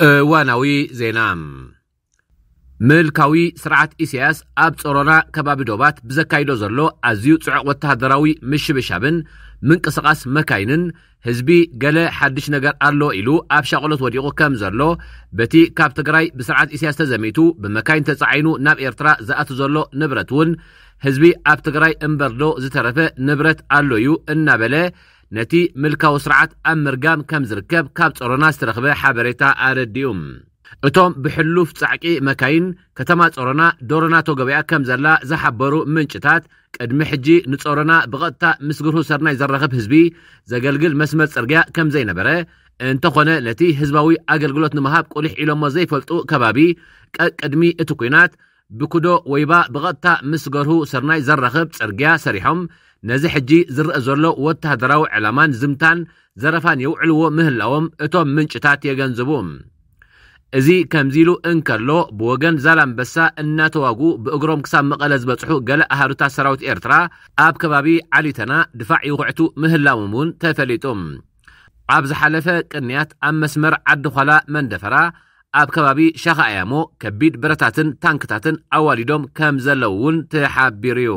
እዋናዊ ዜና። ምልካዊ ስርዓት ኢሳያስ ኣብ ጾሮና ከባቢ ዶባት ብዘካይዶ ዘሎ ኣዝዩ ጽዑቕ ወተሃደራዊ ምሽብሻብን ምንቅስቓስ መካይንን፣ ህዝቢ ገለ ሓድሽ ነገር ኣሎ ኢሉ ኣብ ሻቕሎት ወዲቑ ከም ዘሎ፣ በቲ ካብ ትግራይ ብስርዓት ኢሳያስ ተዘሚቱ ብመካይን ተጻዒኑ ናብ ኤርትራ ዝኣቱ ዘሎ ንብረት እውን፣ ህዝቢ ኣብ ትግራይ እምበርዶ ዝተረፈ ንብረት ኣሎ እዩ እናበለ፣ ነቲ ምልካዊ ስርዓት ኣብ ምርጋም ከም ዝርከብ ካብ ጾሮና ዝተረኽበ ሓበሬታ ኣረዲኡ። እቶም ብሕሉፍ ጻዕቂ መካይን ከተማ ጾሮና ዶሮናቶ ገበያ ከም ዘላ ዝሓበሩ ምንጭታት፣ ቅድሚ ሕጂ ንጾሮና ብቐጥታ ምስ ግርሁ ሰርናይ ዘራኽብ ህዝቢ ዘገልግል መስመር ጽርግያ ከም ዘይነበረ፣ እንተኾነ ነቲ ህዝባዊ ኣገልግሎት ንምሃብ ቁሊሕ ኢሎሞ ዘይፈልጡ ከባቢ፣ ቀቅድሚ እቲ ኲናት ብኩዶ ወይባ ብቐጥታ ምስ ገርሁ ሰርናይ ዘራኽብ ጽርግያ ሰሪሖም፣ ነዚ ሕጂ ዝረአ ዘሎ ወተሃደራዊ ዕላማን ዝምታን ዘረፋን የውዕልዎ ምህላዎም እቶም ምንጭታት የገንዝቡ። እዚ ከምዚ ኢሉ እንከሎ፣ ብወገን ዛላምበሳ እናተዋጉ ብእግሮም ክሳብ መቐለ ዝበጽሑ ገለ ኣሃዱታት ሰራዊት ኤርትራ፣ ኣብ ከባቢ ዓሊተና ድፋዕ ይኹዕቱ ምህላዎም እውን ተፈሊጡ። ኣብ ዝሓለፈ ቅንያት ኣብ መስመር ዓዲ ዃላ መንደፈራ፣ ኣብ ከባቢ ሻኻ ኣያሞ ከቢድ ብረታትን ታንክታትን ኣዋሊዶም ከም ዘለዉ እውን ተሓቢሩ እዩ።